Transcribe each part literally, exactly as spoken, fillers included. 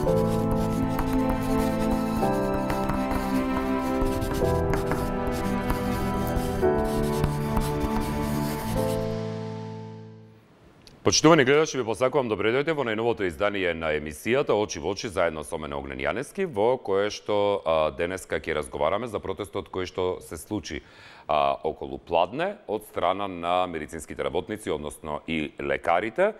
Почитувани гледачи, ви посакувам добре дојдете во најновото издание на емисијата Очи во очи заедно со мене Огнен Јанески, во кое што а, денеска ќе разговараме за протестот кој што се случи а, околу Пладне од страна на медицинските работници, односно и лекарите.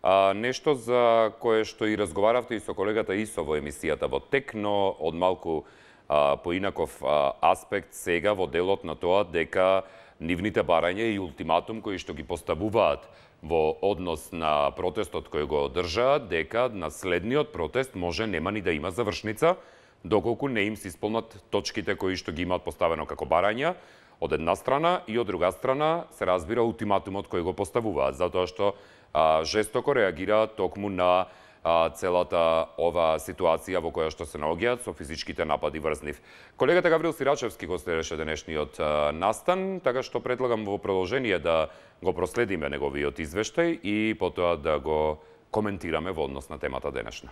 А, нешто за кое што и разговаравте и со колегата Исо во емисијата во тек, но од малку а, поинаков а, аспект сега во делот на тоа дека нивните барања и ултиматум кои што ги поставуваат во однос на протестот кој го одржаат, дека на следниот протест може нема ни да има завршница, доколку не им се исполнат точките кои што ги имаат поставено како барања, од една страна, и од друга страна се разбира ултиматумот кој го поставуваат, затоа што а, жестоко реагираат токму на а, целата ова ситуација во која што се наоѓаат со физичките напади врз нив. Колегата Гаврил Сирачевски гостираше денешниот а, настан, така што предлагам во продолжение да го проследиме неговиот извештај и потоа да го коментираме во однос на темата денешна.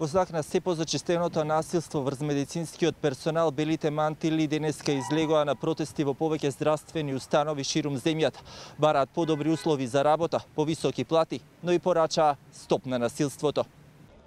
Во знак на се позачестеното насилство врз медицинскиот персонал, белите мантили денеска излегоа на протести во повеќе здравствени установи ширум земјата. Бараат подобри услови за работа, повисоки плати, но и порачаа стоп на насилството.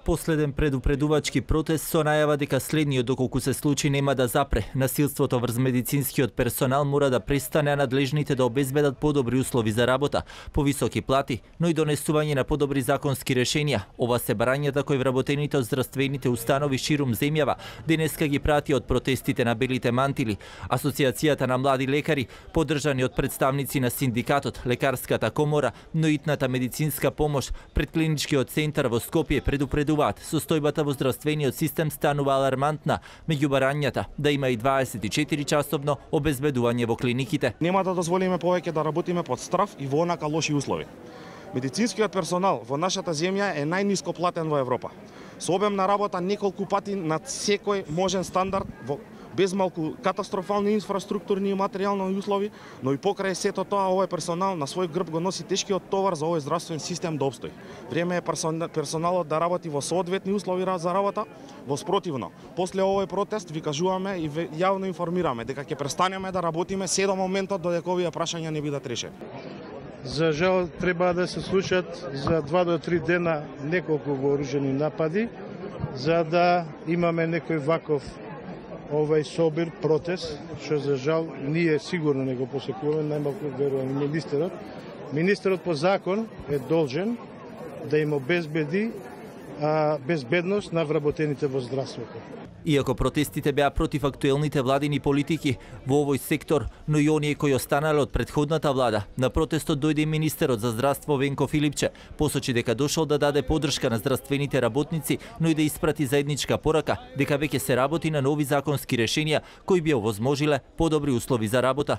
Последен предупредувачки протест со најава дека следниот, доколку се случи, нема да запре. Насилството врз медицинскиот персонал мора да престане, а надлежните да обезбедат подобри услови за работа, повисоки плати, но и донесување на подобри законски решенија. Ова се барањата кои вработените од здравствените установи ширум земјава денеска ги прати од протестите на белите мантили. Асоциацијата на млади лекари, поддржани од представници на синдикатот, лекарската комора, но и итната медицинска помош, предклиничкиот центар во Скопје предупредуваат состојбата во здравствениот систем станува алармантна, меѓу барањата да има и дваесет и четири часовно обезбедување во клиниките. Нема да дозволиме повеќе да работиме под страф и во онака лоши услови. Медицинскиот персонал во нашата земја е најниско платен во Европа. Со обем на работа неколку пати над секој можен стандард, во без малку катастрофални инфраструктурни и материјални услови, но и покрај сето тоа овој персонал на свој грб го носи тешкиот товар за овој здравствен систем да обстои. Време е персоналот да работи во соодветни услови за работа, во спротивно. После овој протест ви кажуваме и јавно информираме дека ќе престанеме да работиме се до моментот додека овие прашања не бидат решени. За жал треба да се случат за два до три дена неколку вооружени напади, за да имаме некој ваков овај собир протест, што за жал ние сигурно не го посекуваме, најмалку верувам и министерот. Министерот по закон е должен да им обезбеди а, безбедност на вработените во здравството. Иако протестите беа против актуелните владини политики во овој сектор, но и оние кои останале од претходната влада, на протестот дојде и министерот за здравство Венко Филипче. Посочи дека дошол да даде поддршка на здравствените работници, но и да испрати заедничка порака дека веќе се работи на нови законски решенија кои би овозможиле подобри услови за работа.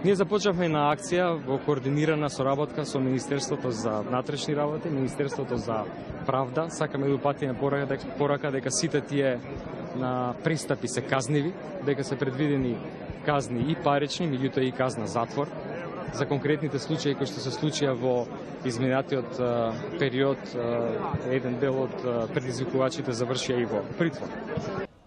Ние започнавме на акција во координирана соработка со Министерството за внатрешни работи, Министерството за правда. Сакаме да упатиме порака, порака дека сите тие на пристапи се казниви, дека се предвидени казни и парични, меѓутоа и казна затвор. За конкретните случаи кои што се случија во изминатиот период, еден дел од предизвикувачите завршија и во притвор.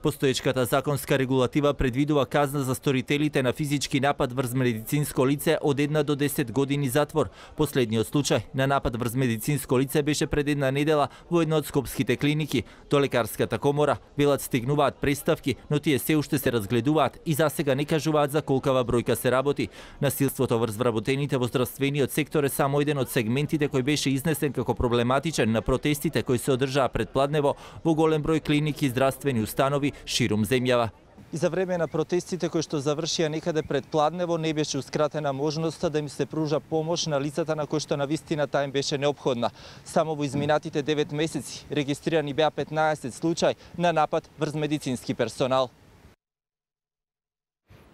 Постоечката законска регулатива предвидува казна за сторителите на физички напад врз медицинско лице од една до десет години затвор. Последниот случај на напад врз медицинско лице беше пред една недела во една од скопските клиники. До лекарската комора велат стигнуваат представки, но тие се уште се разгледуваат и засега не кажуваат за колкава бројка се работи. Насилството врз вработените во здравствениот сектор е само еден од сегментите кој беше изнесен како проблематичен на протестите кои се одржаа пред Пладнево во голем број клиники и здравствени установи ширум земјава. И за време на протестите кои што завршија некаде пред Пладнево не беше ускратена можноста да им се пружа помош на лицата на кои што навистина таа им беше неопходна. Само во изминатите девет месеци регистрирани беа петнаесет случаи на напад врз медицински персонал.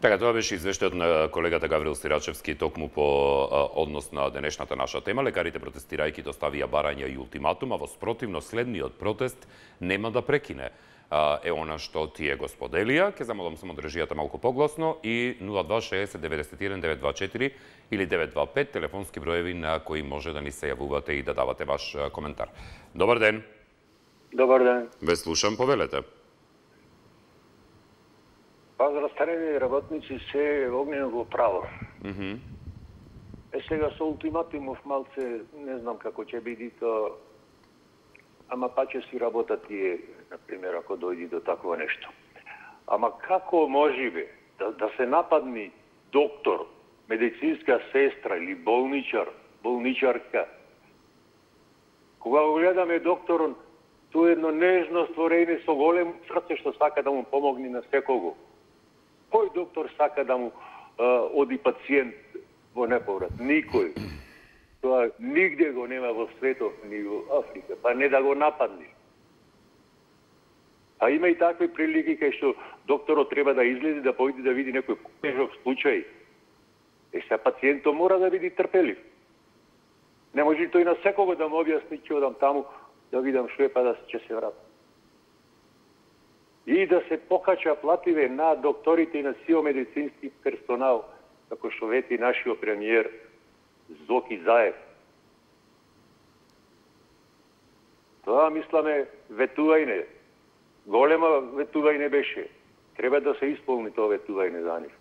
Така, тоа беше извештајот на колегата Гаврил Сирачевски токму по а, однос на денешната наша тема. Лекарите протестирајќи доставија барања и ултиматум, а во спротивно следниот протест нема да прекине. е она што тие го споделија. Ке замолам само држијата малку погласно и нула два шеесет деветдесет и еден девет два четири или девет два пет телефонски броеви на кои може да ни се јавувате и да давате ваш коментар. Добар ден. Добар ден. Ве слушам, повелете. Па за растарени работници се огненово право. Mm -hmm. Е сега со ултиматумов малце не знам како ќе биде то, ама па ќе си работат тие, например, ако дојди до такво нешто. Ама како може бе да, да се нападни доктор, медицинска сестра или болничар, болничарка? Кога го гледаме докторон, тоа е едно нежно створење со големо срце што сака да му помогне на секого. Кој доктор сака да му а, оди пациент во неповрат? Никој. Тоа нигде го нема во светот, ни во Африка, па не да го нападне. А има и такви прилики кај што докторот треба да излезе да појде да види некој тежок случај. Е, сега пациентот мора да биде трпелив. Не може тој на секого да му објасни ќе одам таму да видам што е па да ќе се вратам. И да се покача плативе на докторите и на сио медицински персонал, како што вети нашиот премиер Зоки Заев. Тоа, мисламе, ветување. Голема ветување беше. Треба да се исполни тоа ветување за нив.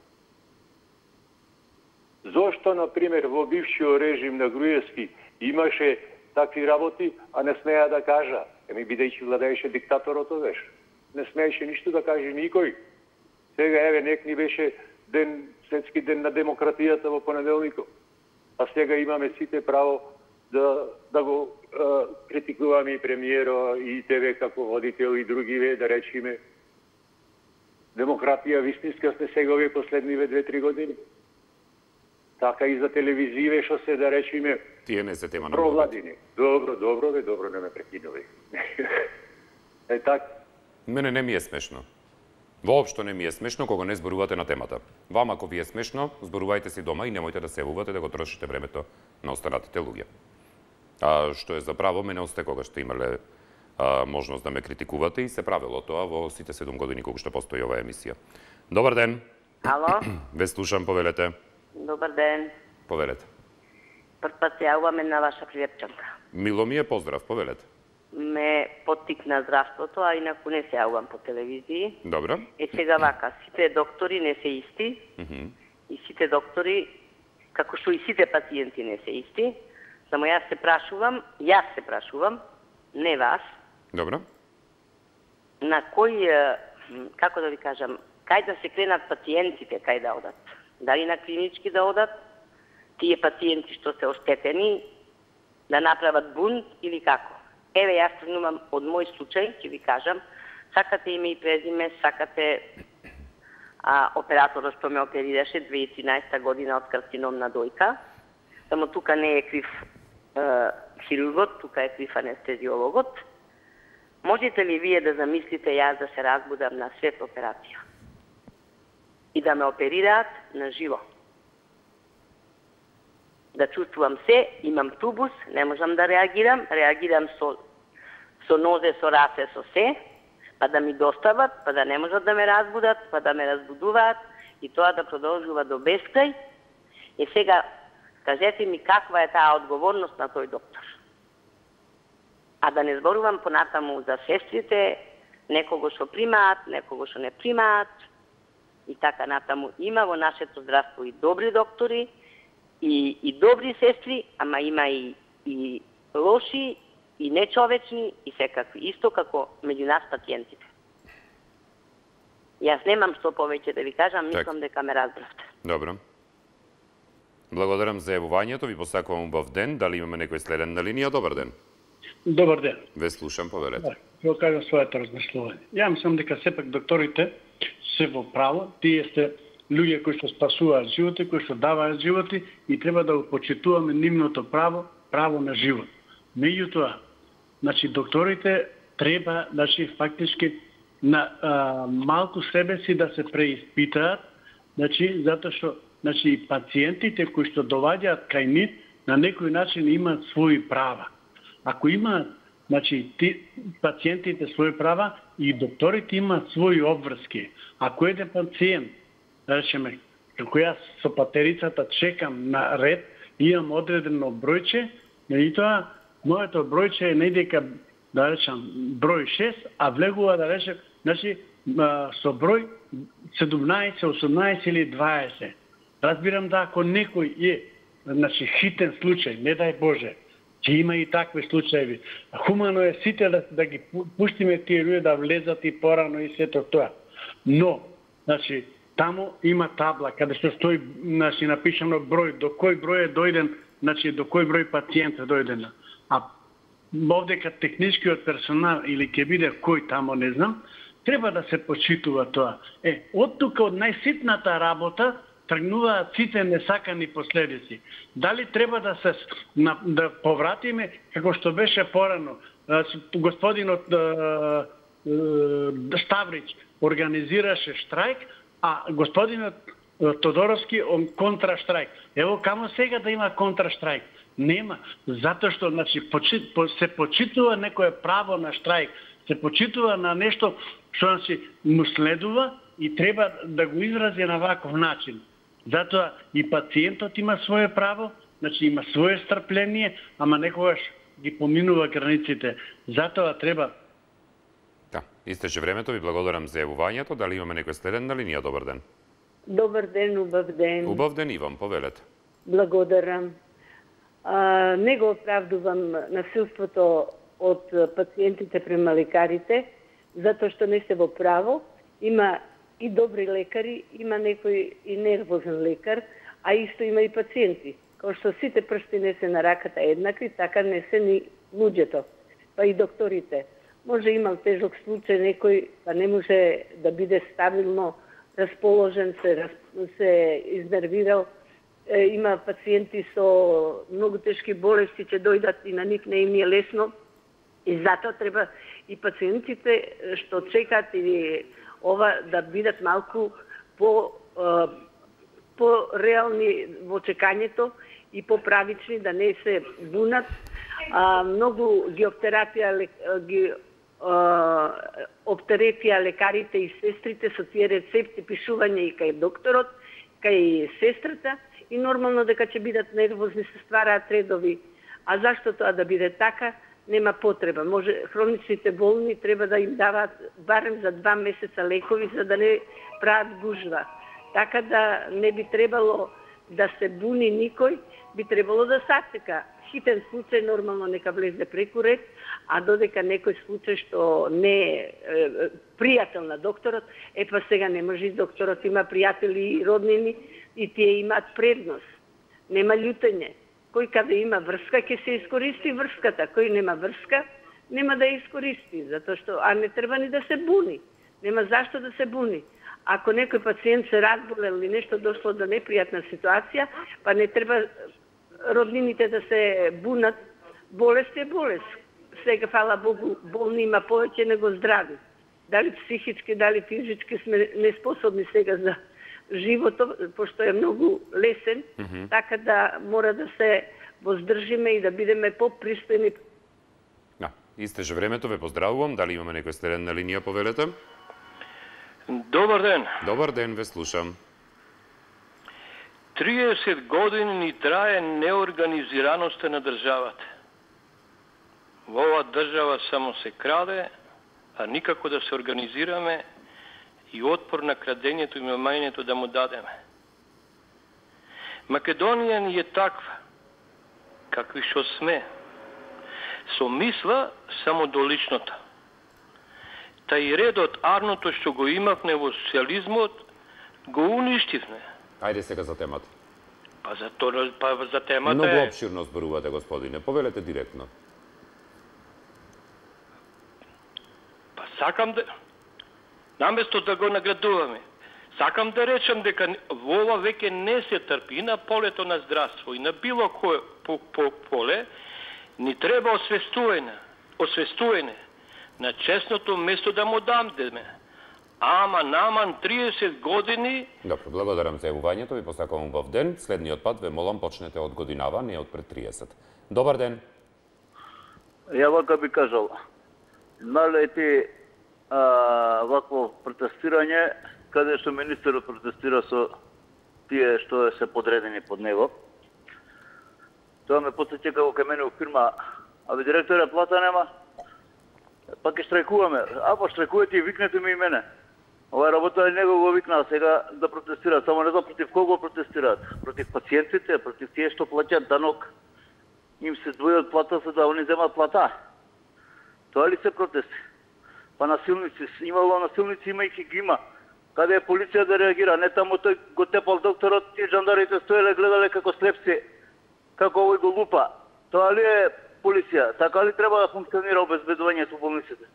Зошто, например, во бившиот режим на Груевски имаше такви работи, а не смеа да кажа? Еми, бидејќи владееше диктаторот овеш. Не смееше ништо да каже никој. Сега, еве, нек ни беше ден, светски ден на демократијата во понеделникот. А сега имаме сите право да, да го е, критикуваме и премиеро, и тебе како водител, и другиве, да речиме. Демократија вистинска сте сега овие последниве две-три години. Така и за телевизиве, што се, да речиме, тие не се тема на провладини. Добро, добро, бе, добро, не ме прекинувай. Е така. Мене не ми е смешно. Воопшто не ми е смешно кога не зборувате на темата. Вама, ако ви е смешно, зборувајте си дома и немојте да се јавувате да го трошите времето на останатите луѓе. А што е за право, мене осте кога што имале а, можност да ме критикувате и се правило тоа во сите седум години кога што постои оваа емисија. Добар ден. Ало? Ве слушам, повелете. Добар ден. Повелете. Прв пат се јавуваме на ваша пријатчанка. Мило ми е, поздрав, повелете. Ме поттикна здравството, а инаку не се јавувам по телевизии. Добро. Е сега вака, сите доктори не се исти. Mm -hmm. И сите доктори, како што и сите пациенти не се исти. Само јас се прашувам, јас се прашувам, не вас. Добро. На кој, како да ви кажам, кај да се кренат пациентите, кај да одат? Дали на клинички да одат? Тие пациенти што се оштетени, да направат бунт или како? Еве, јас тргнувам од мој случај, ќе ви кажам, сакате име и презиме, сакате а, операторот што ме оперираше две тисачи и тринаесета година од карцином на дојка. Само тука не е крив е, хирургот, тука е крив анестезиологот. Можете ли вие да замислите јас да се разбудам на свет операција и да ме оперираат на живо? Да чувствувам се, имам тубус, не можам да реагирам, реагирам со, со нозе, со раце, со се, па да ми достават, па да не можат да ме разбудат, па да ме разбудуваат и тоа да продолжува до бескрај. И сега, кажете ми каква е таа одговорност на тој доктор. А да не зборувам понатаму за сестрите, некого што примаат, некого што не примаат и така натаму. Има во нашето здравство и добри доктори, И, и добри сестри, ама има и, и лоши, и нечовечни, и секакви. Исто како меѓу нас пациентите. Јас немам што повеќе да ви кажам, мислам дека ме разбравте. Добро. Благодарам за јавувањето, ви посакувам убав ден. Дали имаме некој следен на линија? Добар ден. Добар ден. Ве слушам, повелете. Да, ќе кажам своето размислување. Ја мислам дека сепак докторите се во право, тие се луѓе кои што спасуваат животи, кои што даваат животи и треба да го почитуваме нивното право, право на живот. Меѓутоа, значи докторите треба, значи фактички на а, малку себе си да се преиспитаат, значи затоа што значи пациентите кои што доваѓаат кај нив на некој начин имаат своји права. Ако имаат значи, ти, пациентите своји права и докторите имаат своји обврски. Ако еден пациент, да речеме, како јас со патерицата чекам на ред, имам одредено бројче, и тоа, моето бројче е недека, да речем, број шест, а влегува, да речем, значи, со број седумнаесет, осумнаесет или дваесет. Разбирам да ако некој е, значи, хитен случај, не дај Боже, че има и такви случаеви. Хумано е сите да, да ги пуштиме тие луѓе да влезат и порано и сето тоа. Но, значи, таму има табла каде се стои, значи, напишано број, до кој број е дојден, значи, до кој број пациент е дојден. А овдека техничкиот персонал или ќе биде кој тамо, не знам, треба да се почитува тоа. Е, од тука, од најситната работа, тргнуваат сите несакани последици. Дали треба да се на, да повратиме како што беше порано, господинот а, а, Ставрич организираше штрајк, а господинот Тодоровски он контраштрајк. Ево камо сега да има контраштрајк? Нема, затоа што, значи, почит, се почитува некое право на штрајк, се почитува на нешто што, значи, му следува и треба да го изрази на ваков начин. Затоа и пациентот има свое право, значи има свое стрпление, ама некогаш ги поминува границите. Затоа треба. Да, истече времето, ви благодарам за јавувањето. Дали имаме некој следен на линија? Добар ден. Добар ден, убав ден. Убав ден, Иван, повелете. Благодарам. А, не го оправдувам насилството од пациентите према лекарите, затоа што не се во право. Има и добри лекари, има некој и нервозен лекар, а исто има и пациенти. Као што сите прсти не се на раката еднакви, така не се ни луѓето, па и докторите. Може имал тежок случај некој, па не може да биде стабилно расположен, се, се изнервирал. Е, има пациенти со многу тешки болести, ќе дојдат и на нив не им е лесно. И затоа треба и пациентите што чекаат или ова да бидат малку по, по реални во чекањето и поправични, да не се бунат. А, многу ги оптерапија, ги а, оптеретија лекарите и сестрите со тие рецепти, пишување и кај докторот, кај сестрата, и нормално дека ќе бидат нервозни, се ствараат редови. А зашто тоа да биде така? Нема потреба. Може хроничните болни треба да им даваат барем за два месеца лекови за да не прават гужва. Така да не би требало да се буни никој, би требало да сачека. Хитен случај нормално нека влезе преку ред, а додека некој случај што не е, е пријател на докторот, е па сега не може и докторот има пријатели и роднини и тие имаат предност. Нема љутење. Кој каде има врска, ќе се искористи врската. Кој нема врска, нема да ја искористи. Затоа што, а не треба ни да се буни. Нема зашто да се буни. Ако некој пациент се разболел или нешто дошло до непријатна ситуација, па не треба роднините да се бунат. Болест е болест. Сега, фала Богу, болни има повеќе него здрави. Дали психички, дали физички сме неспособни сега за животот, пошто е многу лесен, mm -hmm. така да мора да се воздржиме и да бидеме попристојни. Да, истеже времето, ве поздравувам. Дали имаме некој следен на линија, повелете? Добар ден. Добар ден, ве слушам. триесет години ни трае неорганизираноста на државата. Во оваа држава само се краде, а никако да се организираме и отпор на крадењето и мамањето да му дадеме. Македонија ни е таква, какви што сме, со мисла само до личното. Та и редот арното што го имавме во социализмот, го уништивме. Ајде сега за темата. Па за, то, па за темата Многу е... обширно зборувате, господине. Повелете директно. Па сакам да... Наместо да го наградуваме, сакам да речам дека во ова веќе не се трпи и на полето на здравство и на било кое по, по поле, ни треба освестување, освестување на честното место да му дамдеме. Ама наман триесет години... Добро, благодарам за јавувањето, ви посакувам убав ден. Следниот пат ве молам почнете од годинава, не од пред триесет. Добар ден. Ја вака би кажал, налети а, вакво протестирање, каде што министерот протестира со тие што се подредени под него. Тоа ме потсеќа како кај мене у фирма, абе директоре плата нема, па ќе штрајкуваме. А па штрајкувате и викнете ми и мене. Ова работа него го викнаа сега да протестираат, само не знам против кого протестираат. Против пациентите, против тие што плаќаат данок. Им се двојат плата за да они земат плата. Тоа ли се протести? Па насилници, имало насилници, има и ги има. Каде е полиција да реагира? Не таму тој го тепал докторот, тие жандарите стоеле, гледале како слепци, како овој го лупа. Тоа ли е полиција? Така ли треба да функционира обезбедувањето во болниците?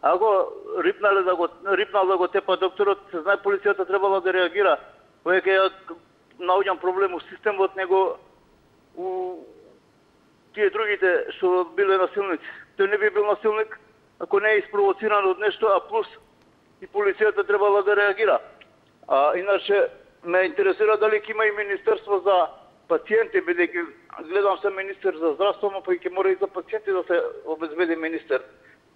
Ако рипнале да го рипнал да го тепа докторот, се знае полицијата требала да реагира. Кој ќе наоѓам проблем у системот, него у тие другите што биле насилници. Тој не би бил насилник ако не е испровоциран од нешто, а плюс и полицијата требала да реагира. А иначе ме интересира дали ќе има и министерство за пациенти, бидејќи гледам се министер за здравство, но па и ќе мора и за пациенти да се обезбеди министер.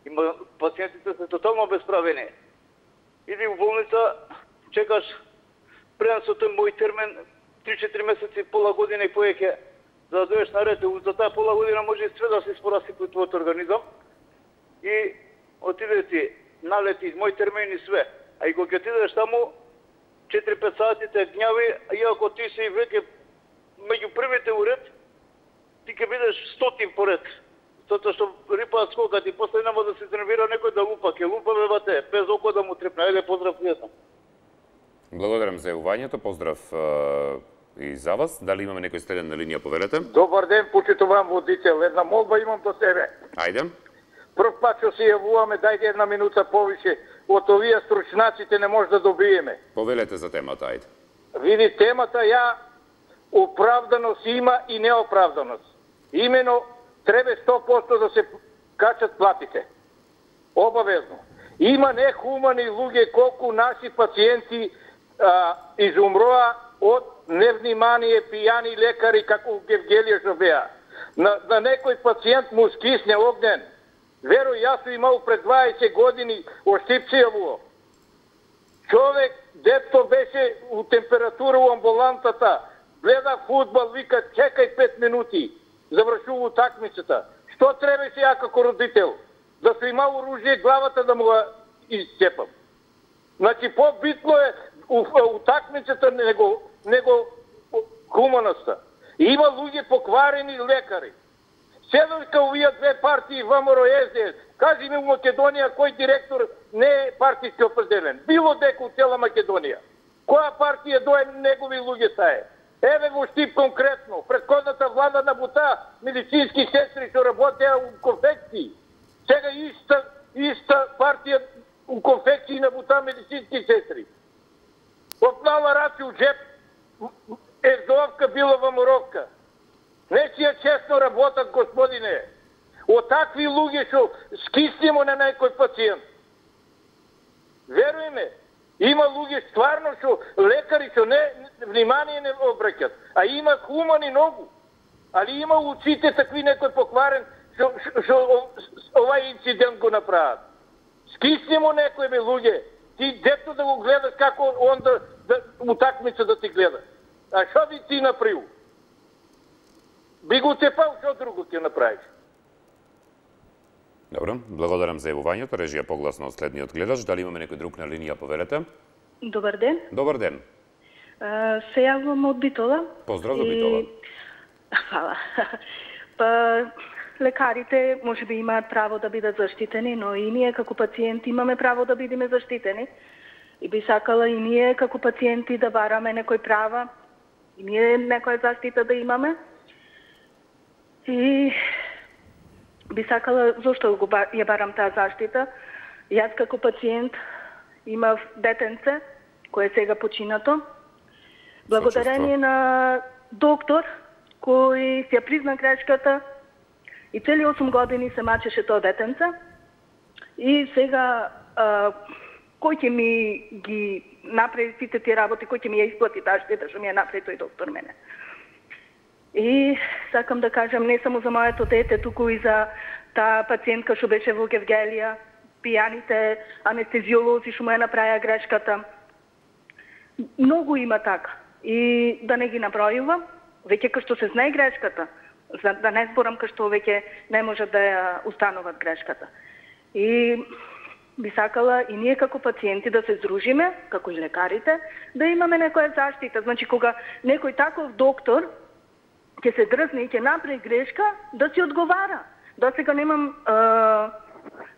Има пациентите се тотално обесправени. Иди у болница, чекаш пренесот тој мој термин три-четири месеци, пола година и повеќе за да дојдеш на ред. За таа пола година може и све да се испораси твојот организам. И отиде ти, налети мој термин и све. А и кога ќе отидеш таму, четири-пет сати те гњави, иако ти си веќе меѓу првите уред, ти ќе бидеш стотин поред. Затоа што рипаат скокат и после нема да се тренира некој да лупа, ќе лупа бебате, без око да му трепне. Ајде, поздрав пријатно. Благодарам за јавувањето, поздрав и за вас. Дали имаме некој следен на линија, поверете? Добар ден, почитувам водител. Една молба имам до себе. Ајде. Прв пат што се јавуваме, дајте една минута повише. Од овие стручнаците не може да добиеме. Повелете за темата, ајде. Види, темата ја оправданост има и неоправданост. Имено треба сто проценти да се качат платите. Обавезно. Има нехумани луѓе колку наши пациенти а, изумроа од невнимание пијани лекари како Гевгелија што беа. На, на некој пациент му скисне огнен. Веро, јас сум имал пред дваесет години оштипцијаво. Човек, дето беше у температура у амбулантата, гледа фудбал, вика, чекај пет минути, завршува утакмицата. Што требаше ја како родител? Да сум имал оружје главата да му го изцепам. Значи, по-битно е утакмицата него, него хуманоста. Има луѓе покварени лекари. Седојка овие две партии, ВМРО и Ес Де Ес, кажи ми у Македонија кој директор не е партиски определен. Било дека у цела Македонија. Која партија дое негови луѓе тае? Еве го штип конкретно. Предходната влада набута медицински сестри што работеа у конфекции. Сега иста, иста партија у конфекции набута медицински сестри. Опнала раци у джеп, Ердовка била ВМРО-ка. Не си ја честно работат, господине. Од такви луѓе што скиснемо на некој пациент. Веруј ме, има луѓе стварно што лекари што не внимание не обраќат, а има хумани многу. Али има очите такви некој покварен што што овај инцидент го направат. Скиснемо некој бе луѓе. Ти дето да го гледаш како он да, да утакмица да ти гледа. А што би ти направил? Би го тепал, што друго ќе направиш? Добро, благодарам за јавувањето. Режија погласно од следниот гледач. Дали имаме некој друг на линија, поверете? Добар ден. Добар ден. А, се јавувам од Битола. Поздрав до Битола. И... Фала. Па, лекарите може би имаат право да бидат заштитени, но и ние како пациенти имаме право да бидеме заштитени. И би сакала и ние како пациенти да бараме некој права, и ние некоја заштита да имаме. И би сакала, зашто го ја барам таа заштита? Јас како пациент имав детенце, кое е сега починато. Благодарение на доктор, кој ја призна грешката и цели осум години се мачеше тоа детенце. И сега, а, кој ќе ми ги направи сите тие работи, кој ќе ми ја исплати таа штета што ми ја направи тој доктор мене. И сакам да кажам не само за моето дете, туку и за таа пациентка што беше во Гевгелија, пијаните анестезиолози што му ја направија грешката. Многу има така. И да не ги набројувам, веќе кај што се знае грешката, за да не зборам кај што веќе не може да ја установат грешката. И би сакала и ние како пациенти да се здружиме, како и лекарите, да имаме некоја заштита. Значи, кога некој таков доктор ќе се дрзне и ќе направи грешка, да си одговара. До сега немам е,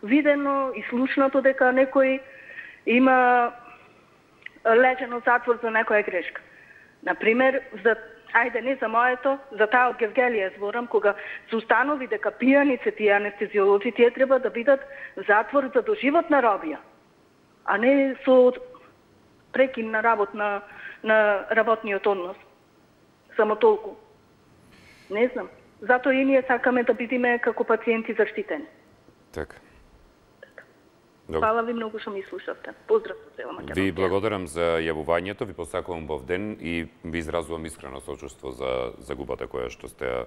видено и слушнато дека некој има лежено затвор за некоја грешка. Например, за ајде не за моето, за таа од Гевгелија зборам, кога се установи дека пијаници, тие анестезиолози, тие треба да бидат затвор за доживотна робија, а не со прекин на работ на, на работниот однос. Само толку. Не знам. Затоа и ние сакаме да бидеме како пациенти заштитени. Така. Добре. Фала ви многу што ми слушавте. Поздрав со цела Македонија. Ви благодарам за јавувањето, ви посакувам бов ден и ви изразувам искрено сочувство за загубата која што сте ја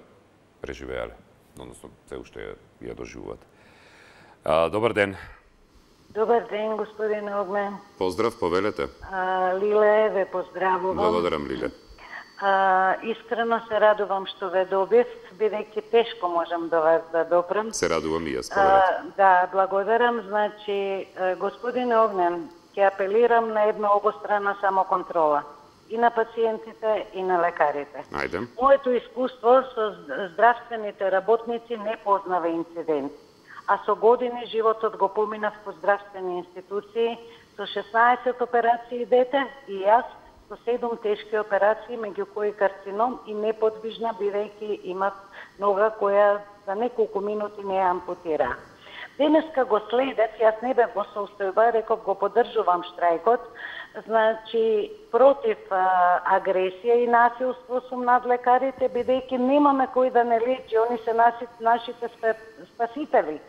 преживеале, односно се уште ја, ја доживувате. А, добар ден. Добар ден, господине Огнен. Поздрав, повелете. А, Лиле, ве поздравувам. Благодарам, Лиле. А, искрено се радувам што ве добив, бидејќи тешко можам до вас да допрам. Се радувам и јас, повелете. Да, благодарам. Значи, господине Огнен, ќе апелирам на една обострана самоконтрола. И на пациентите, и на лекарите. Ајде. Моето искуство со здравствените работници не познава инцидент. А со години животот го поминав по здравствени институции, со шеснаесет операции дете и јас, со седум тешки операции, меѓу кои карцином и неподвижна, бидејќи имат нога која за неколку минути не ја ампутира. Денеска го следев, јас не бев во состојба, реков го поддржувам штрајкот, значи против а, агресија и насилство сум над лекарите, бидејќи немаме кој да не лечи, они се наши, нашите спасители.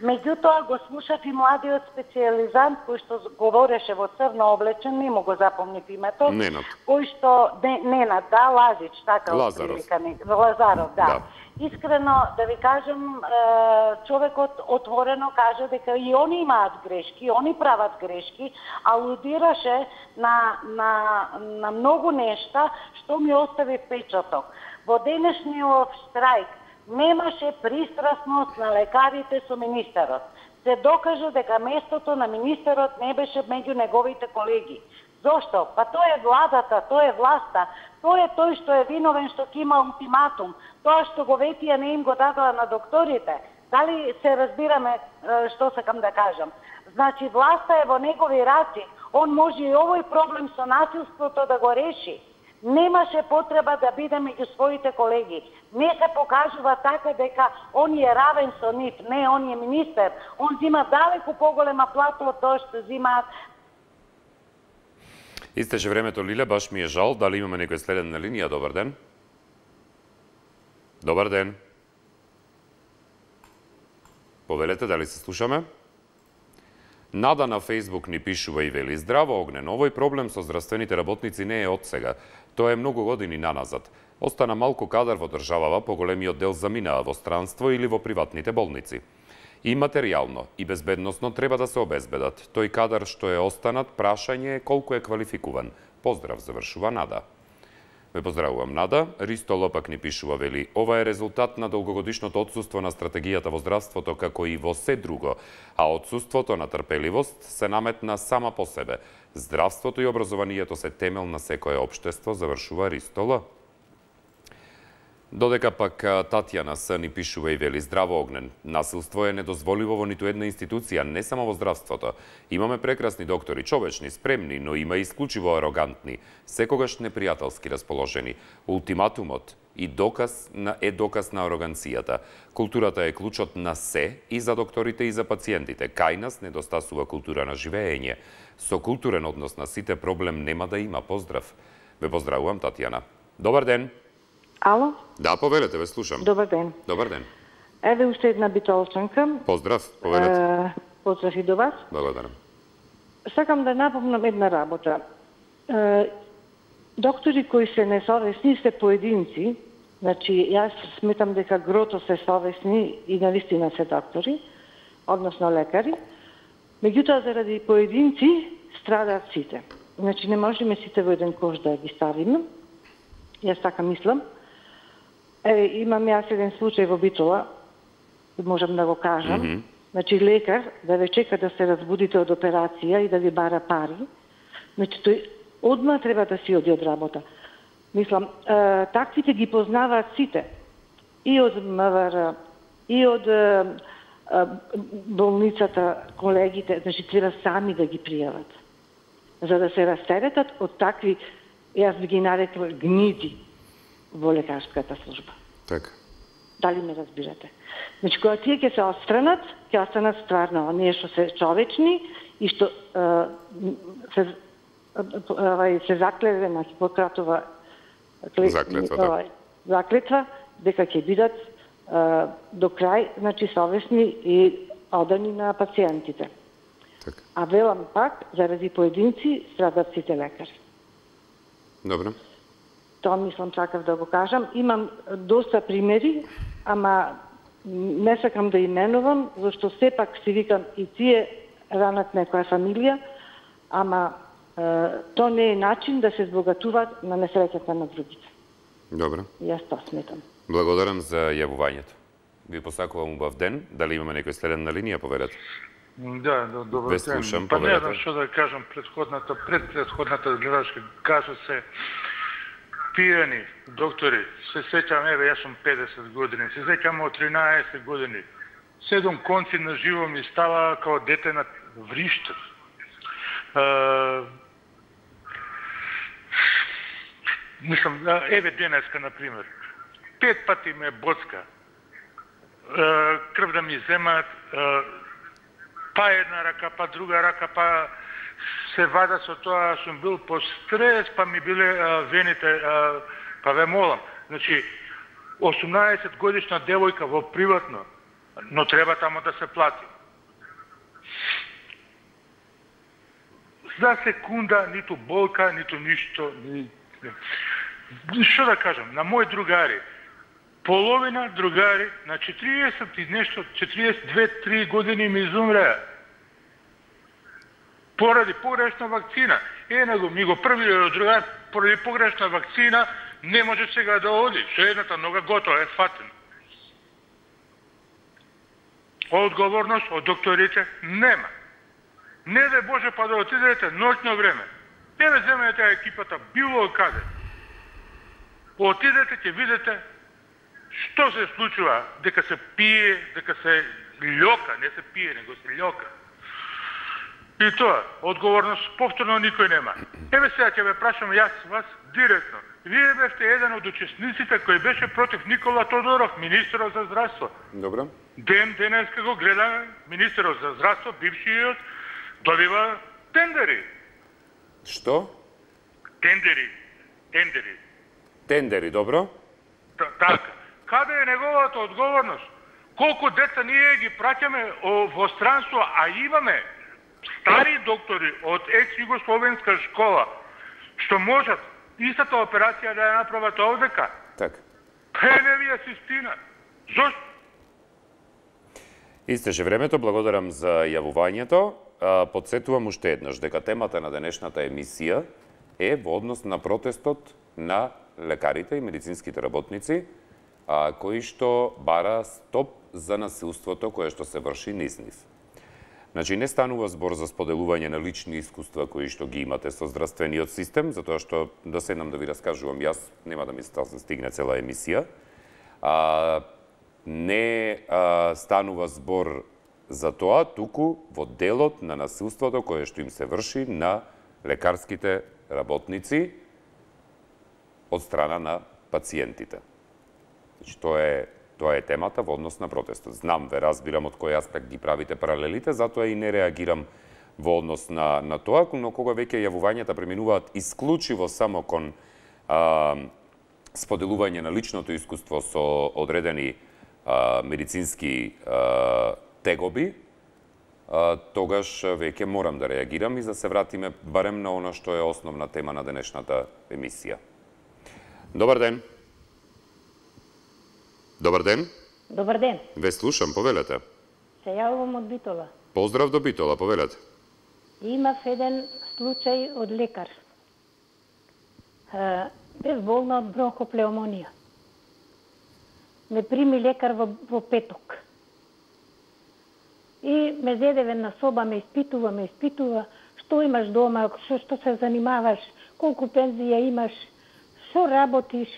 Меѓутоа го слушав и младиот специјализант кој што говореше во црно облечен, не му го запомнив името. Ненад. Кој што не, Ненад, да, Лазич, така Лазаров. Лазаров, да. да. Искрено да ви кажам, човекот отворено кажа дека и они имаат грешки, они прават грешки, алудираше на на на многу нешта што ми остави впечаток. Во денешниот штрајк немаше пристрасност на лекарите со министерот. Се докажа дека местото на министерот не беше меѓу неговите колеги. Зошто? Па тоа е владата, тоа е власта, тоа е тој што е виновен што ќе има ултиматум, тоа што го ветија не им го дадоа на докторите. Дали се разбираме што сакам да кажам? Значи власта е во негови раци, он може и овој проблем со насилството да го реши. Немаше потреба да биде меѓу своите колеги. Не се покажува така дека он е равен со нив. Не, он е министер. Он зима далеку поголема плата од тоа што зимаат. Истече времето, Лиле, баш ми е жал. Дали имаме некој следен на линија? Добар ден. Добар ден. Повелете, дали се слушаме? Нада на Фейсбук ни пишува и вели: здраво, Огнен, овој проблем со здравствените работници не е од сега. Тоа е многу години наназад. Остана малку кадар во државава, поголемиот дел заминаа во странство или во приватните болници. И материјално, и безбедносно треба да се обезбедат. Тој кадар што е останат, прашање е колку е квалификуван. Поздрав, завршува Нада. Ве поздравувам, Нада. Ристо Лопак ни пишува, вели: ова е резултат на долгогодишното отсуство на стратегијата во здравството, како и во се друго, а отсуството на трпеливост се наметна сама по себе. Здравството и образованието се темел на секое општество, завршува Ристо Л. Додека пак Татјана С ни пишува и вели: здраво, Огнен, насилство е недозволиво во ниту една институција, не само во здравството. Имаме прекрасни доктори, човечни, спремни, но има и исклучиво арогантни, секогаш непријателски расположени. Ултиматумот и доказ на е доказ на ароганцијата. Културата е клучот на се и за докторите и за пациентите. Кај нас недостасува култура на живеење. Со културен однос на сите проблем нема да има. Поздрав. Ве поздравувам, Татјана. Добар ден. Ало? Да, повелете, ве слушам. Добар ден. Добар ден. Еве уште една битолчанка. Поздрав, повелете. Е, поздрав и до вас. Благодарам. Сакам да напомнам една работа. Е, доктори кои се несовесни се поединци Значи, јас сметам дека грото се совесни и навистина се доктори, односно лекари, меѓутоа заради поединци страдаат сите. Значи, не можеме сите во еден кош да ги ставиме. Јас така мислам. Е, имам јас еден случај во Битола, можам да го кажам. Mm -hmm. Значи, лекар да ве чека да се разбудите од операција и да ви бара пари. Значи, тој одма треба да си оди од работа. Мислам, е, таквите ги познаваат сите. И од М В Р, и од е, е, болницата, колегите. Значи, треба сами да ги пријават. За да се растеретат од такви, јас би ги нарекла, гниди во лекарската служба. Така. Дали ме разбирате? Значи, кога тие ќе се отстранат, ќе останат стварно оние што се човечни и што е, се, е, се заклеве на Хипократова заклетва, да. заклетва, дека ќе бидат е, до крај, значи, совесни и одани на пациентите. Така. А велам пак, заради поединци, страдат сите лекари. Добро. Тоа мислам сакав да го кажам. Имам доста примери, ама не сакам да именувам, зашто сепак си викам и тие ранат некоја фамилија, ама е, то не е начин да се збогатуваат на несреќата на другите. Добро. Јас тоа сметам. Благодарам за јавувањето. Ви посакувам убав ден. Дали имаме некој следен на линија, поведете? Да, да, добро Ве слушам, ден. Па не поведете. знам што да кажам, предходната, пред предходната гледачка кажа се пијани доктори. Се сеќам, еве, јас сум педесет години, се сеќам од тринаесет години. Седум конци на живо ми става као дете на вриштев. Uh, мислам, еве денеска, например, пет пати ме боцка, uh, крв да ми земат, uh, па една рака, па друга рака, па се вада со тоа, сум бил по стрес, па ми биле uh, вените, uh, па ве молам. Значи, осумнаесет годишна девојка во приватно, но треба тамо да се плати. За секунда, ниту болка, ниту ништо. Ни... Што да кажам, на мои другари, половина другари на четириесет и нешто, четириесет и две три години ми изумреа. Поради погрешна вакцина. Една го, ми го први другар, поради погрешна вакцина, не може сега да оди. Со едната нога готова, е фатен. Одговорност од докторите нема. Не да Боже па да отидете ноќно време. Не да земете екипата било каде. Отидете, ќе видите што се случува, дека се пие, дека се лјока, не се пие, него се лјока. И тоа, одговорност повторно никој нема. Еве сега ќе ве прашам јас вас директно. Вие бевте еден од учесниците кој беше против Никола Тодоров, министерот за здравство. Добро. Ден денеска го гледаме, министерот за здравство, бившиот, добива тендери. Што? Тендери. Тендери. Тендери, добро. Т така. Каде е неговата одговорност? Колку деца ние ги праќаме во странство, а имаме стари доктори од екс-југословенска школа, што можат истата операција да ја направат овдека. Така. Пене ви асистина. Зошто? Истеше времето, благодарам за јавувањето. Подсетувам уште еднаш дека темата на денешната емисија е во однос на протестот на лекарите и медицинските работници, а, кои што бара стоп за насилството кое што се врши низ нив. Значи, не станува збор за споделување на лични искуства кои што ги имате со здравствениот систем, затоа што да седнам да ви раскажувам јас, нема да ми стигне цела емисија. А, не а, станува збор за тоа, туку во делот на насилството кое што им се врши на лекарските работници од страна на пациентите. Значи, тоа е, тоа е темата во однос на протестот. Знам, ве разбирам од кој аспект ги правите паралелите, затоа и не реагирам во однос на, на тоа, но кога веќе јавувањата преминуваат исклучиво само кон а, споделување на личното искуство со одредени а, медицински а, тегоби, а, тогаш веќе морам да реагирам и да се вратиме барем на оно што е основна тема на денешната емисија. Добар ден. Добар ден. Добар ден. Ве слушам, повелете. Се јавувам од Битола. Поздрав до Битола, повелете. Имав еден случај од лекар. Бев болна од бронхоплеумонија. Ме прими лекар во, во петок. И ме зеде на соба, ме испитува, ме испитува, што имаш дома, што, што се занимаваш, колку пензија имаш, што работиш,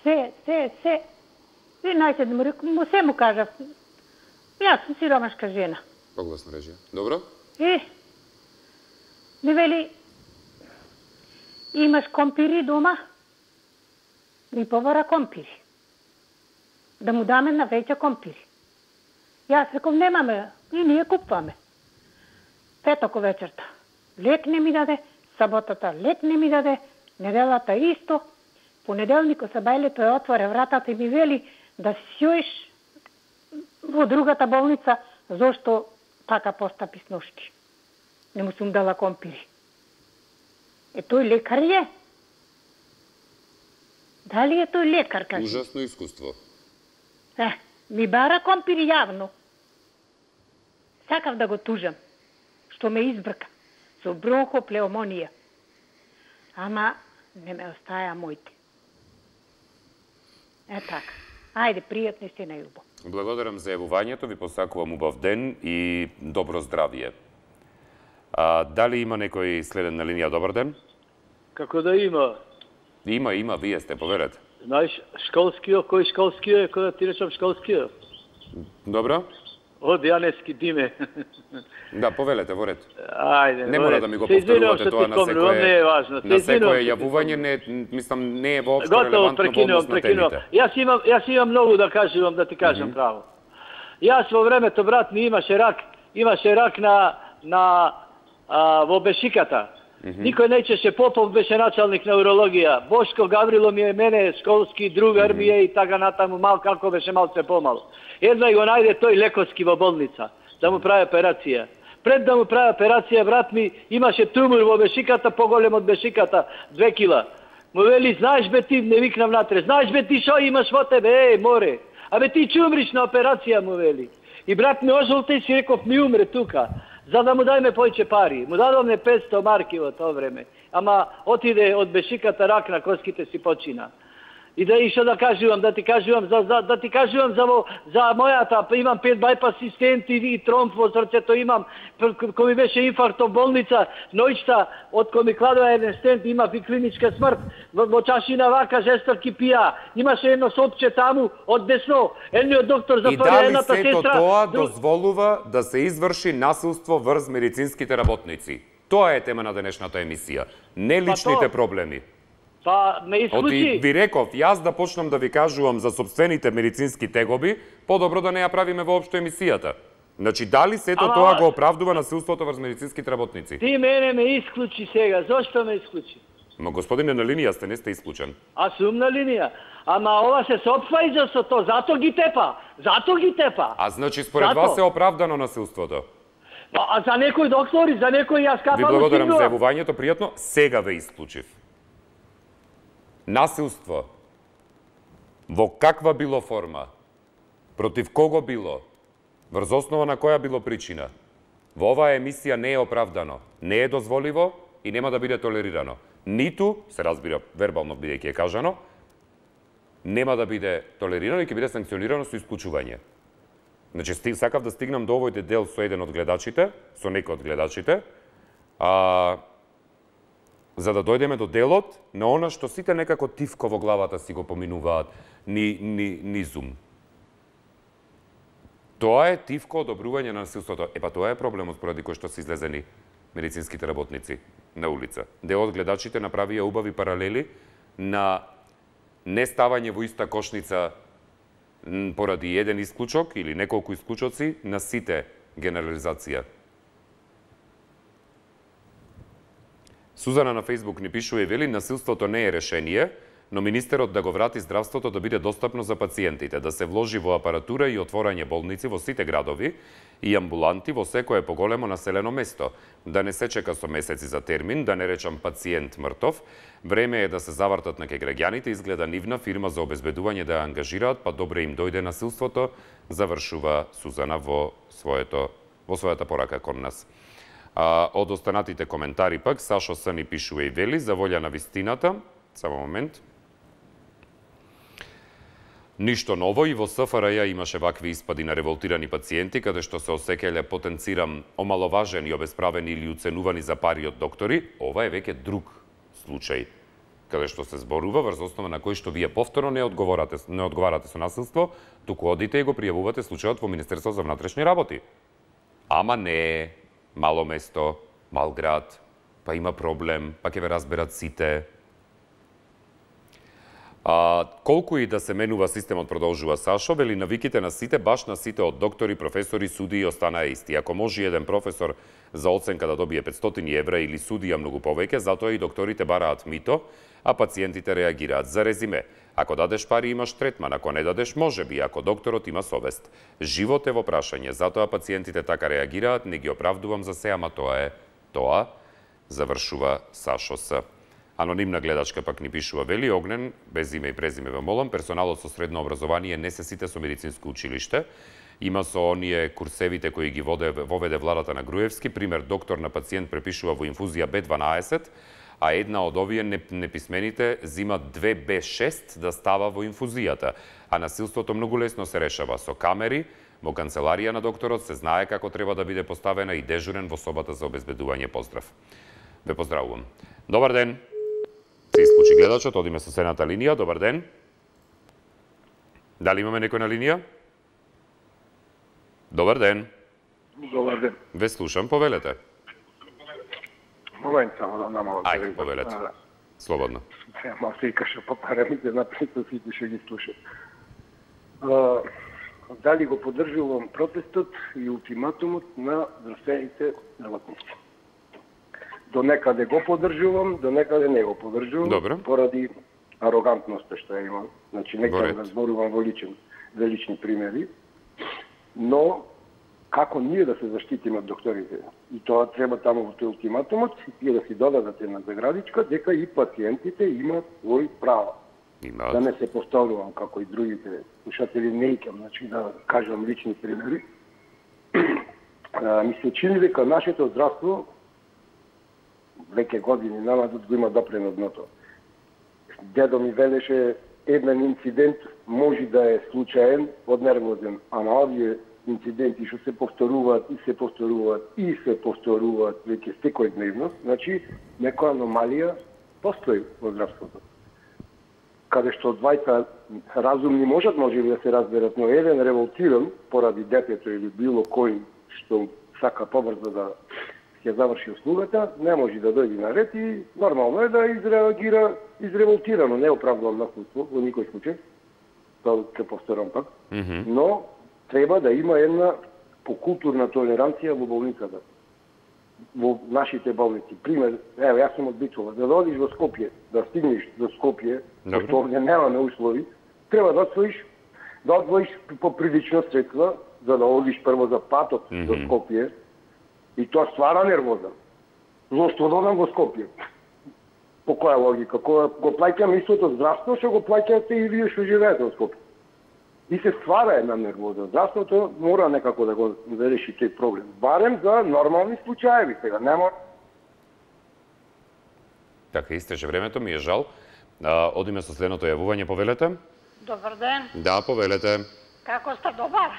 се, се, се. И најсед му рекам, му се му кажав. Јас сум сиромашка жена. Погласна режија. Добро? И ми вели, имаш компири дома? Ми побара компири. Да му даме на веќе компири. Јас реком, немаме, и ние купваме. Петоко вечерта. Лек не ми даде, саботата лек не ми даде, неделата исто. Понеделникот са бајле тој отворе вратата и ми вели да сјоиш во другата болница, зошто така постапи с ношки. Не му сум дала компири. Е, тој лекар е? Дали е тој лекар, кажи? Ужасно искуство. Е, ми бара компири јавно. Сакав да го тужам, што ме избрка со бронхоплеумонија. Ама не ме остаја моите. Е така. Ајде, пријатно си на љубов. Благодарам за јавувањето, ви посакувам убав ден и добро здравје. А, дали има некој следен на линија? Добар ден? Како да има? Има, има, вие сте, поверете. Знаеш, школскиот, кој школскиот е, кој да ти речам школскиот? Добро? Од Јанески Диме. Да, повелете, во ред. Ајде, не мора да ми го повторувате тоа на секое, не е важно. На секое јавување, не, мислам, не е воопшто релевантно во однос на темите. Јас имам, јас имам многу да кажувам, да ти кажам mm -hmm. право. Јас во времето, брат ми, имаше рак, имаше рак на, на а, во Бешиката. Mm -hmm. Никој неќеше, Попов беше началник на урологија. Бошко Гаврило ми е мене, школски другар ми е и така натаму, мал како беше малце помало. Едва и го најде тој лекарски во болница, да му прави операција. Пред да му прави операција, брат ми, имаше тумор во Бешиката, поголем од Бешиката, две кила. Му вели, знаеш бе ти, не викнам натре, знаеш бе ти шо имаш во тебе, е, море. Абе ти ќе умриш на операција, му вели. И брат ми ожолте и си реков, ми умре тука, за да му дајме појче пари. Му дадовме петсто марки во тоа време. Ама отиде од Бешиката рак на коските си почина. И да и што да кажувам, да ти кажувам за, за да ти кажувам за во, за мојата, имам пет байпас стенти и тромб во срцето имам, кој ми беше инфаркт во болница, ноќта од кој ми кладува еден стент, имав и клиничка смрт, во, во чашина вака жестоки пија, имаше едно сопче таму од десно, едниот доктор затвори едната сестра. И дали сето тоа дозволува да се изврши насилство врз медицинските работници? Тоа е тема на денешната емисија, не личните проблеми. Па, ме исклучи. Оти ви реков, јас да почнам да ви кажувам за собствените медицински тегоби, подобро да не ја правиме воопшто емисијата. Значи, дали сето Ама... тоа го оправдува насилството врз медицинските работници? Ти мене ме исклучи сега, зошто ме исклучи? Ма господине, на линија сте, не сте исклучен. А сум на линија. Ама ова се сопфа иза со то, зато ги тепа. Зато ги тепа. А значи, според зато. вас е оправдано насилството? А за некои доктори, за некои јас капам. Ви благодарам за јавувањето, пријатно. Сега ве исклучив. Насилство, во каква било форма, против кого било, врз основа на која било причина, во оваа емисија не е оправдано, не е дозволиво и нема да биде толерирано. Ниту, се разбира вербално бидејќи е кажано, нема да биде толерирано и ќе биде санкционирано со исклучување. Значи, сакав да стигнам до овој дел со еден од гледачите, со некој од гледачите, а... за да дојдеме до делот на она што сите некако тивко во главата си го поминуваат ни, ни, ни зум. Тоа е тивко одобрување на насилството. Епа тоа е проблемот поради кој што се излезени медицинските работници на улица. Дел од гледачите направија убави паралели на неставање во иста кошница поради еден исклучок или неколку исклучоци на сите генерализација. Сузана на Фейсбук ни пишува и вели, насилството не е решение, но министерот да го врати здравството да биде достапно за пациентите, да се вложи во апаратура и отворање болници во сите градови и амбуланти во секое поголемо населено место, да не се чека со месеци за термин, да не речам пациент мртов. Време е да се завртат на ке граѓаните, изгледа нивна фирма за обезбедување да ја ангажираат, па добре им дојде насилството, завршува Сузана во своето во својата порака кон нас. А, од останатите коментари пак, Сашо С ни пишува и вели, за волја на вистината, само момент, ништо ново, и во СФРЈ имаше вакви испади на револтирани пациенти, каде што се осекеле, потенцирам, омаловажени, обесправени или уценувани за пари од доктори. Ова е веќе друг случај, каде што се зборува врз основа на кој што вие повторно не одговарате, не одговарате со насилство, туку одите и го пријавувате случајот во Министерство за внатрешни работи. Ама не, мало место, мал град, па има проблем, па ќе ве разберат сите. А, колку и да се менува системот, продолжува Сашо, вели навиките на сите, баш на сите од доктори, професори, судии останаа исти. Ако може еден професор за оценка да добие петстотини евра или судија многу повеќе, затоа и докторите бараат мито, а пациентите реагираат. За резиме, ако дадеш пари имаш третман, ако не дадеш може би, ако докторот има совест. Живот е во прашање, затоа пациентите така реагираат, не ги оправдувам за се, ама тоа е тоа, завршува Сашо С. Анонимна гледачка пак ни пишува, вели Огнен, без име и презиме ве молам, персоналот со средно образование не се сите со медицинско училиште. Има со оние курсевите кои ги воде, воведе владата на Груевски, пример доктор на пациент препишува во инфузија Б дванаесет, а една од овие неписмените зима две Б шест да става во инфузијата. А насилството многу лесно се решава со камери, во канцеларија на докторот се знае како треба да биде поставена и дежурен во собата за обезбедување. Поздрав. Ве поздравувам. Добар ден. Се исклучи гледачот, одиме со следната линија. Добар ден. Дали имаме некој на линија? Добар ден. Добар ден. Ве слушам, повелете. Момент само да намалам. Ајде, повелете. Слободно. Сега мал се икаше по парамите, напред сите ще ги слушат. Дали го поддржувам протестот и ултиматумот на здравствените работници? До некаде го поддржувам, до некаде не го поддржувам, Добре. Поради арогантноста што ја имам. Значи, нека да зборувам во личен, за лични примери. Но, како ние да се заштитиме од докторите? И тоа треба таму во тој ултиматумот, и да си додадат една заградичка, дека и пациентите имаат свој право. Имаат. Да не се повторувам како и другите слушатели, не икам, значи да кажам лични примери. Ми се чини дека нашето здравство веќе години назад го има допрено дното. Дедо ми велеше еден инцидент може да е случаен, однервозен, а на овие инциденти што се повторуваат и се повторуваат и се повторуваат веќе секојдневно, значи некоја аномалија постои во здравството. Каде што двајца разумни можат може би да се разберат, но еден револтиран поради детето или било кој што сака побрзо да ќе заврши услугата, не може да дојде на ред и нормално е да изреагира изреволтирано, не оправдувам насилство во никој случај, тоа ќе повторам пак, Mm -hmm. но треба да има една покултурна толеранција во болницата, во нашите болници. Пример, ево, јас сум од Битола, да одиш во Скопје, да стигнеш до Скопје, што овде немаме услови, треба да одвоиш, да одвоиш поприлично средства, за да одиш прво за патот mm -hmm. до Скопје, и тоа ствара нервоза. Зошто додам во Скопје? По која логика? Кога го плаќам истото здравство, што го плаќате и вие што живеете во Скопје. И се ствара една нервоза. Здравството мора некако да го да реши тој проблем. Барем за нормални случаеви сега. Нема... Така, истеше времето, ми е жал. А, одиме со следното јавување, повелете. Добар ден. Да, повелете. Како сте, добар?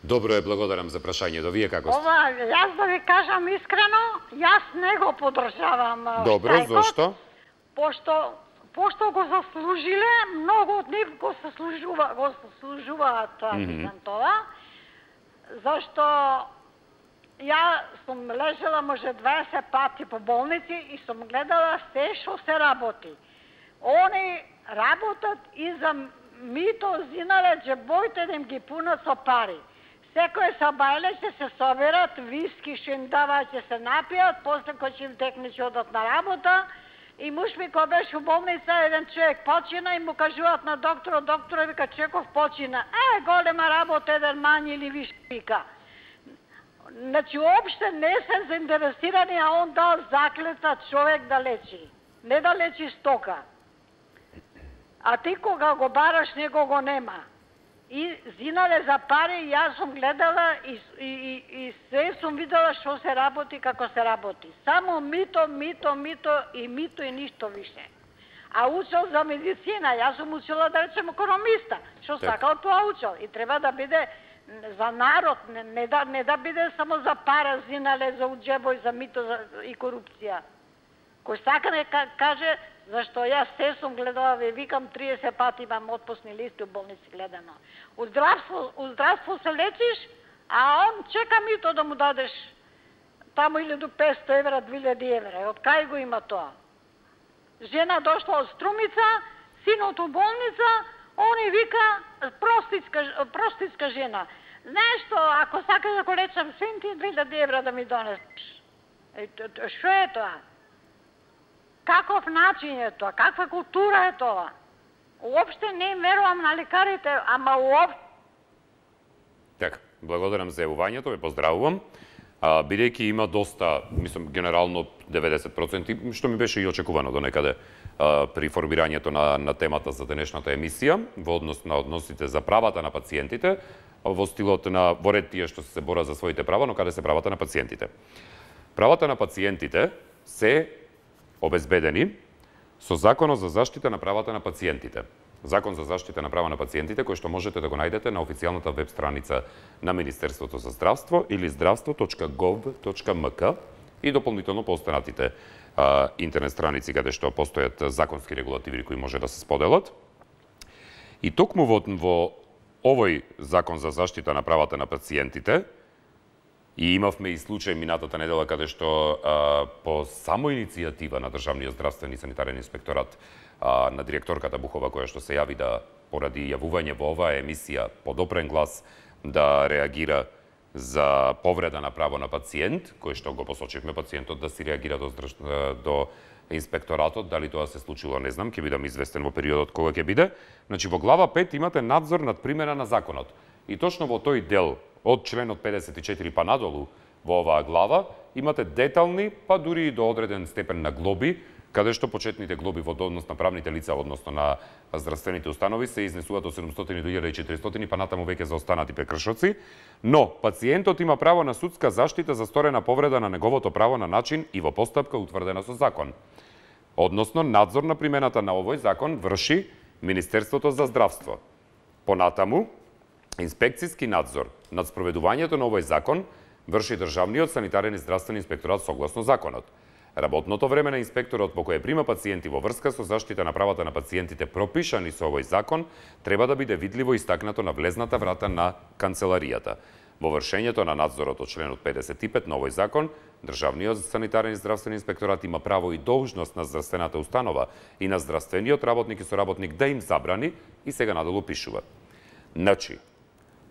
Добро е, благодарам за прашањето. Вие како сте? Ова, јас да ви кажам искрено, јас не го поддржавам Добро, штрајкот, зошто? Пошто пошто го заслужиле, многу од нив го заслужува, го заслужуваат mm -hmm. тоа. Зашто ја сум лежала може дваесет пати по болници и сум гледала се што се работи. Они работат и за мито зинале џебоите да им ги пунат со пари. Секој сабајле ќе се соберат, виски што им даваат ќе се напијат, после кој ќе им текне ќе одат на работа, И муж ми кој беше у болница, еден човек почина и му кажуваат на докторот, докторот вика Чеков почина. Е, голема работа, еден мањ или виш вика. Значи, уопште не се заинтересирани, а он дал заклета човек да лечи. Не да лечи стока. А ти кога го бараш, него го нема. И зинале за пари, јас сум гледала и, и, и, и се сум видела што се работи, како се работи. Само мито, мито, мито и мито и ништо више. А учел за медицина, јас сум учила да речем економиста, што сакал тоа учел. И треба да биде за народ, не, не, да, не да биде само за пара, зинале, за уџебој, за мито за, и корупција. Кој сака не каже, зашто јас се сум гледала, ви викам триесет пати имам отпусни листи у болници гледано. У здравство, у здравство се лечиш, а он чека мито да му дадеш таму илјаду и песто евра, две илјади евра. Од кај го има тоа? Жена дошла од Струмица, синот у болница, они вика простичка, простичка жена. Знаеш што, ако сакаш да го лечам син ти, две илјади евра да ми донесеш. Што е тоа? Каков начин е тоа? Каква култура е тоа? Уопште не верувам на лекарите, ама уопште... Така, благодарам за јавувањето, ве поздравувам. А, бидејќи има доста, мислам, генерално деветдесет проценти, што ми беше и очекувано до некаде а, при формирањето на, на темата за денешната емисија, во однос на односите за правата на пациентите, во стилот на во ред тие што се бора за своите права, но каде се правата на пациентите. Правата на пациентите се обезбедени со Законот за заштита на правата на пациентите. Закон за заштита на права на пациентите, кој што можете да го најдете на официјалната веб страница на Министерството за здравство или здравство точка гов точка ем ка и дополнително по останатите а, интернет страници каде што постојат законски регулативи кои може да се споделат. И токму во, во овој Закон за заштита на правата на пациентите, и имавме и случај минатата недела каде што а, по само иницијатива на Државниот здравствен и санитарен инспекторат а, на директорката Бухова, која што се јави да поради јавување во оваа емисија подопрен глас да реагира за повреда на право на пациент, кој што го посочивме пациентот да си реагира до, до инспекторатот, дали тоа се случило, не знам, ќе бидам известен во периодот кога ќе биде. Значи во глава пет имате надзор над примена на законот. И точно во тој дел од членот педесет и четири па надолу во оваа глава имате детални, па дури и до одреден степен на глоби, каде што почетните глоби во однос на правните лица, односно на здравствените установи, се изнесуваат од седумстотини до илјада и четиристотини, па натаму веќе за останати прекршоци, но пациентот има право на судска заштита за сторена повреда на неговото право на начин и во постапка утврдена со закон. Односно, надзор на примената на овој закон врши Министерството за здравство. Понатаму, инспекцијски надзор над спроведувањето на овој закон врши Државниот санитарен и здравствен инспекторат согласно законот. Работното време на инспекторот по кое прима пациенти во врска со заштита на правата на пациентите пропишани со овој закон треба да биде видливо истакнато на влезната врата на канцеларијата. Во вршењето на надзорот од членот педесет и пет на овој закон, Државниот санитарен и здравствен инспекторат има право и должност на здравствената установа и на здравствениот работник и соработник да им забрани и сега надолу пишува. Значи,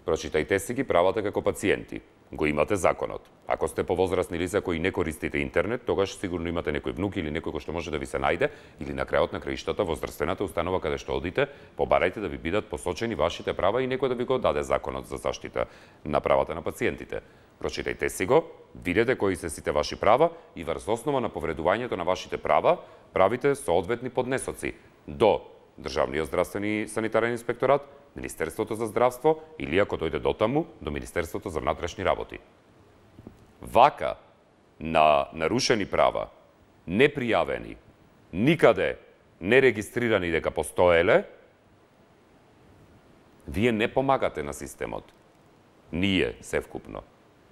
прочитајте си ги правата како пациенти. Го имате законот. Ако сте повозрасни лица кои не користите интернет, тогаш сигурно имате некој внук или некој кој што може да ви се најде, или на крајот на краиштата во здравствената установа каде што одите, побарајте да ви бидат посочени вашите права и некој да ви го даде законот за заштита на правата на пациентите. Прочитајте си го, видете кои се сите ваши права и врз основа на повредувањето на вашите права правите соодветни поднесоци до Државниот здравствен и санитарен инспекторат, Министерството за здравство или ако дојде до таму, до Министерството за внатрешни работи. Вака на нарушени права, непријавени, никаде не регистрирани дека постоеле, вие не помагате на системот. Ние севкупно.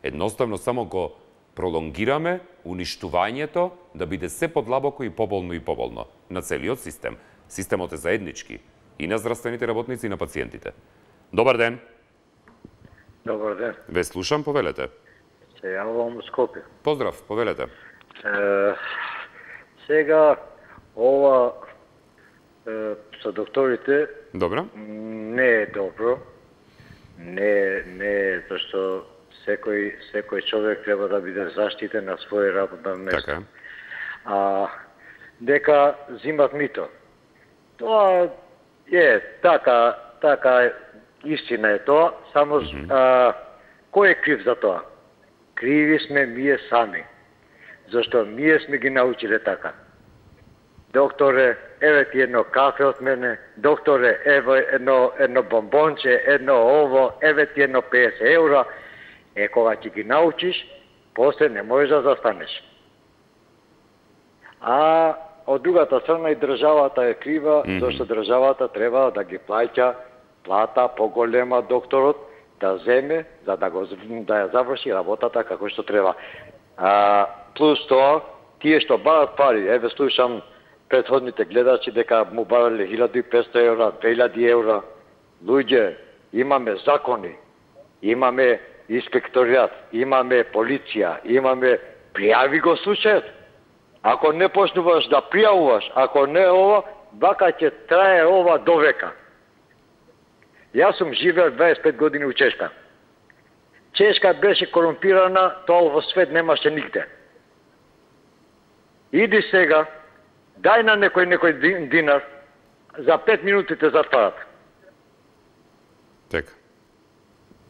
Едноставно само го пролонгираме уништувањето да биде се подлабоко и поболно и поболно на целиот систем. Системот е заеднички и на здравствените работници и на пациентите. Добар ден. Добар ден. Ве слушам, повелете. Се јавувам од Скопје. Поздрав, повелете. Е, сега, ова е, со докторите Добро. Не е добро. Не, не е, зашто секој, секој човек треба да биде заштитен на свој работно место. Така. А дека зимат мито. Тоа е така, така истина е тоа, само mm-hmm. а, кој е крив за тоа? Криви сме ние сами. Зашто ние сме ги научиле така. Докторе, еве ти едно кафе од мене, докторе, еве едно, едно бомбонче, едно ово, еве ти едно песет евра. Е, кога ќе ги научиш, после не можеш да застанеш. А од другата страна и државата е крива, mm-hmm. зашто државата треба да ги плаќа плата поголема докторот, да земе, за да, го, да ја заврши работата како што треба. А, плюс тоа, тие што барат пари, еве слушам претходните гледачи дека му барале илјада и петстотини евра, две илјади евра. Луѓе, имаме закони, имаме инспекторијат, имаме полиција, имаме пријави го случајот. Ако не почнуваш да пријавуваш, ако не ова, вака ќе трае ова до века. Јас сум живеел дваесет и пет години у Чешка. Чешка беше корумпирана, тоа во свет немаше нигде. Иди сега, дај на некој некој динар, за пет минути те затварат. Така.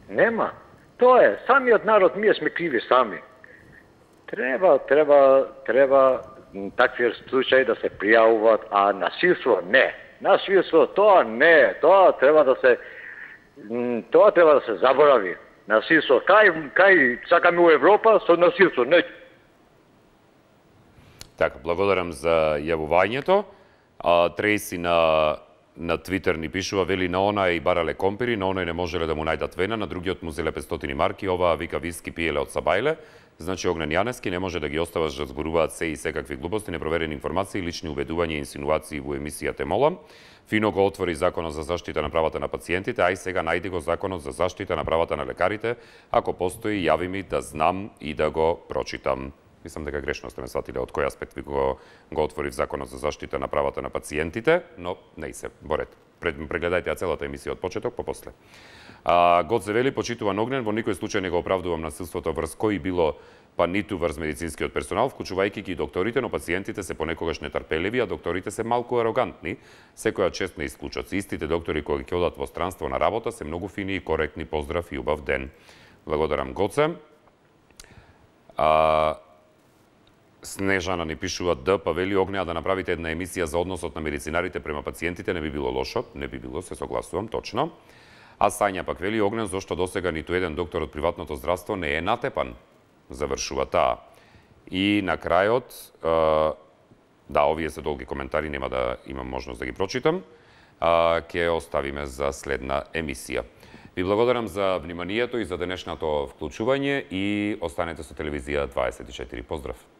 Нема. Тоа е, самиот народ, ние сме криви сами. Треба, треба, треба такви случаи да се пријавуваат, а насилство не. Насилство тоа не, тоа треба да се тоа треба да се заборави. Насилство кај кај сакаме у Европа со насилство, не. Така, благодарам за јавувањето. А, Трейси на на Твитер ни пишува, вели на она и барале компири, на оној не можеле да му најдат вена, на другиот му зеле петстотини марки, оваа вика виски пиеле од Сабајле. Значи Огнен Јанески не може да ги оставаш да зборуваат се и секакви глупости, непроверени информации, лични уведувања и инсинуации во емисијата молам. Фино го отвори Законот за заштита на правата на пациентите, ај сега најди го Законот за заштита на правата на лекарите. Ако постои, јави ми да знам и да го прочитам. Мислам дека грешно сте ме сватиле од кој аспект ви го, го отворив Законот за заштита на правата на пациентите, но не се, борет. Прегледајте ја целата емисија од почеток, попосле. А, Гоце вели, почитуван Огнен, во никој случај не го оправдувам насилството врз кој било, па ниту врз медицинскиот персонал, вклучувајќи ги и докторите, но пациентите се понекогаш нетрпеливи, а докторите се малку арогантни, секоја чест не исклучат. Истите доктори кои ќе одат во странство на работа се многу фини и коректни. Поздрав и убав ден. Благодарам, Гоце. А, Снежана ни пишува Д, па вели Огнеа да направите една емисија за односот на медицинарите према пациентите, не би било лошо, не би било, се согласувам, точно. А Сања пак вели Огнен, зошто досега ниту еден доктор од приватното здравство не е натепан, завршува таа. И на крајот, да, овие се долги коментари, нема да имам можност да ги прочитам, ќе оставиме за следна емисија. Ви благодарам за вниманието и за денешното вклучување и останете со телевизија дваесет и четири. Поздрав!